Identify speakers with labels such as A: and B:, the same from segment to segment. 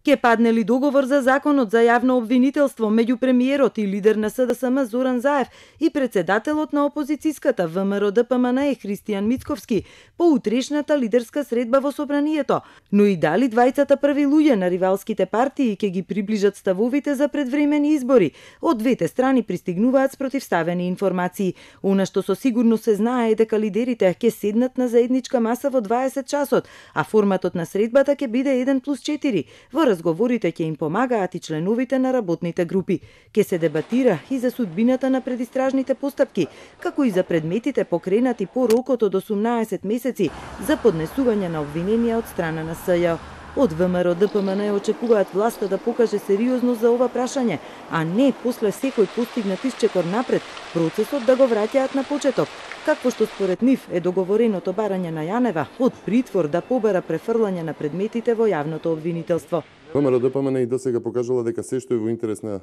A: Ке падне ли договор за законот за јавно обвинителство меѓу премиерот и лидер на СДСМ Зоран Заев и председателот на опозицијската ВМРО-ДПМНЕ Христијан Мицковски по утрешната лидерска средба во собранието, но и дали двајцата први луѓе на ривалските партии ќе ги приближат ставовите за предвремени избори. Од двете страни пристигнуваат спротивставени информации. Она што со сигурност се знае е дека лидерите ќе седнат на заедничка маса во 20 часот, а форматот на средбата ќе биде 1+4. Во разговорите ќе им помагаат и членовите на работните групи. Ќе се дебатира и за судбината на предистражните постапки, како и за предметите покренати по рокот од 18 месеци за поднесување на обвиненија од страна на СЈО. Од ВМРО-ДПМНЕ очекуваат власта да покаже сериозност за ова прашање, а не после секој постигнат исчекор напред процесот да го враќаат на почеток, какво што според нив е договореното барање на Јанева од притвор да побара префрлање на предметите во јавното обвинителство.
B: ВМРО-ДПМНЕ и досега покажала дека се што е во интерес на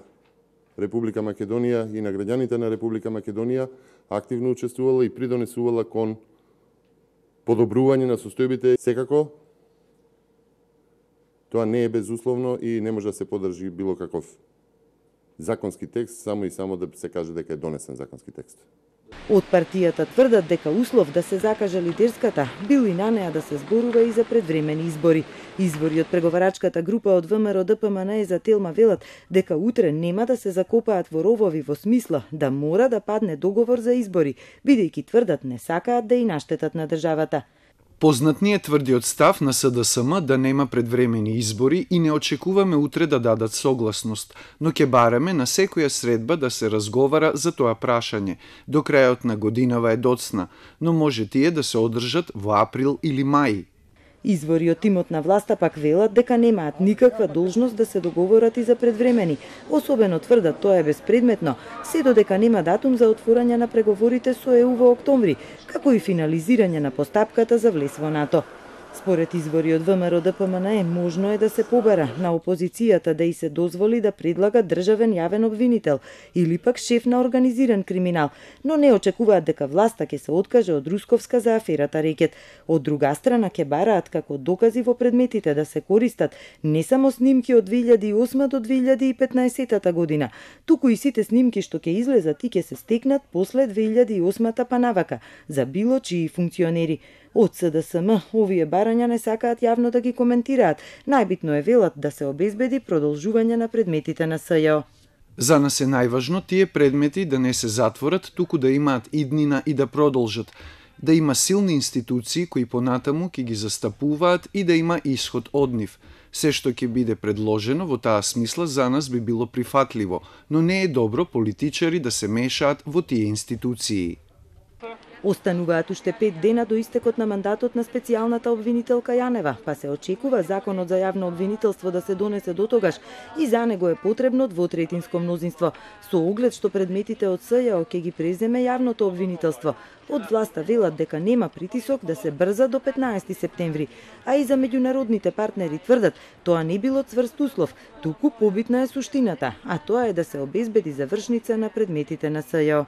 B: Република Македонија и на граѓаните на Република Македонија активно учествувала и придонесувала кон подобрување на состојбите. Секако тоа не е безусловно и не може да се подржи било каков законски текст, само и само да се каже дека е донесен законски текст.
A: Од партијата тврдат дека услов да се закаже лидерската бил и на неа да се зборува и за предвремени избори. Извори од преговарачката група од ВМРО-ДПМНЕ за Телма велат дека утре нема да се закопаат во ровови во смисла да мора да падне договор за избори, бидејќи тврдат не сакаат да и наштетат на државата.
C: Познат ни е тврдиот став на СДСМ да нема предвремени избори и не очекуваме утре да дадат согласност, но ќе бараме на секоја средба да се разговара за тоа прашање. До крајот на годинава е доцна, но може тие да се одржат во април или мај.
A: Извори од тимот на власта пак велат дека немаат никаква должност да се договорат и за предвремени. Особено тврдат тоа е безпредметно, се додека нема датум за отворање на преговорите со ЕУ во октомври, како и финализирање на постапката за влез во НАТО. Според извори од ВМРО-ДПМНЕ, можно е да се побара на опозицијата да и се дозволи да предлага државен јавен обвинител или пак шеф на организиран криминал, но не очекуваат дека власта ќе се откаже од Русковска за аферата Рекет. Од друга страна ќе бараат како докази во предметите да се користат не само снимки од 2008 до 2015 година, туку и сите снимки што ќе излезат и ќе се стекнат после 2008 па навака за било чии функционери. Од СДСМ овие барања не сакаат јавно да ги коментираат. Најбитно е велат да се обезбеди продолжување на предметите на СЈО.
C: За нас е најважно тие предмети да не се затворат, туку да имаат иднина и да продолжат. Да има силни институции кои понатаму ќе ги застапуваат и да има исход од нив. Се што ќе биде предложено во таа смисла за нас би било прифатливо, но не е добро политичари да се мешаат во тие институции.
A: Остануваат уште 5 дена до истекот на мандатот на специјалната обвинителка Јанева, па се очекува законот за јавно обвинителство да се донесе до тогаш и за него е потребно двотретинско мнозинство, со оглед што предметите од СЈО ќе ги преземе јавното обвинителство. Од власта велат дека нема притисок да се брза до 15 септември, а и за меѓународните партнери тврдат тоа не било цврст услов, туку побитна е суштината, а тоа е да се обезбеди завршница на предметите на СЈО.